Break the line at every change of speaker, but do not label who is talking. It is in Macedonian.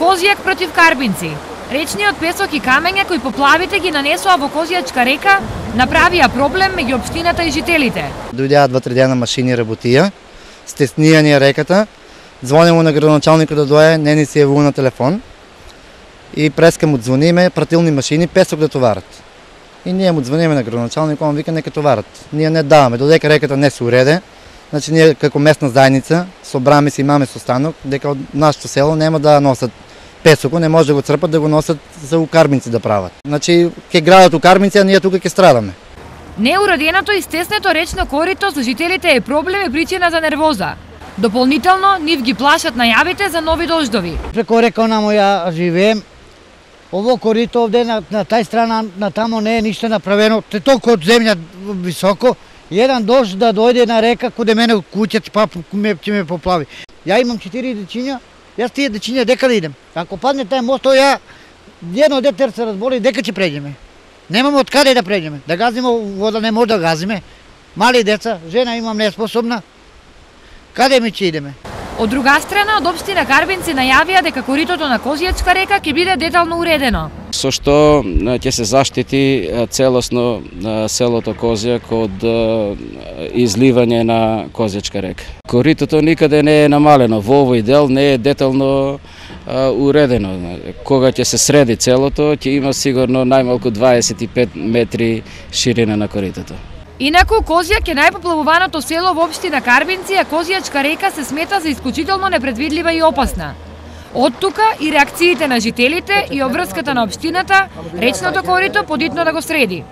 Козјак против Карбинци. Речниот песок и камења кои поплавите ги нанесоа во Козјачка река направија проблем меѓу општината и жителите.
Дојдеа 2-3 дена машини работија, стеснија ни реката, звонимо на градоначалникот да дојде, не ни се јавува на телефон и преска му звониме, пратилни машини песок да товарат. И ние му звониме на градоначалникот, он вика нека товарат. Ние не даваме, додека реката не се уреде. Значи ние како местна заедница собраме се, имаме состанок дека од нашето село нема да носат песоко, не може да го црпат да го носат за у Карбинци да прават. Значи ќе градат у Карбинци, а ние тука ќе страдаме.
Неуреденото и стеснето речно корито за жителите е проблем и причина за нервоза. Дополнително нив ги плашат најавите за нови дождови.
Преко река намо ја живеем. Ово корито овде на тај страна, на тамо не е ништо направено, те толку од земја високо. Еден дожд да дојде на река каде мене куќата па ќе ме поплави. Ја имам 4 дечиња, јас тие дечиња дека да идем. Ако падне тај мост, ја едно дете се разболи, дека ќе преđеме. Немаме од каде да преđеме. Да газиме вода не може да газиме. Мали деца, жена имам неспособна. Каде ми ќе идеме?
Од друга страна, од општина Карбинци најавија дека коритото на Козјачка река ќе биде детално уредено.
Со што ќе се заштити целосно селото Козјак од изливање на Козјачка река. Коритото никаде не е намалено, во овој дел не е детално уредено. Кога ќе се среди целото, ќе има сигурно најмалку 25 метри ширина на коритото.
Инаку, Козјак е најпоплавуваното село во општина Карбинци, а Козјачка река се смета за исклучително непредвидлива и опасна. Од тука и реакциите на жителите и обврската на општината, речното корито подитно да го среди.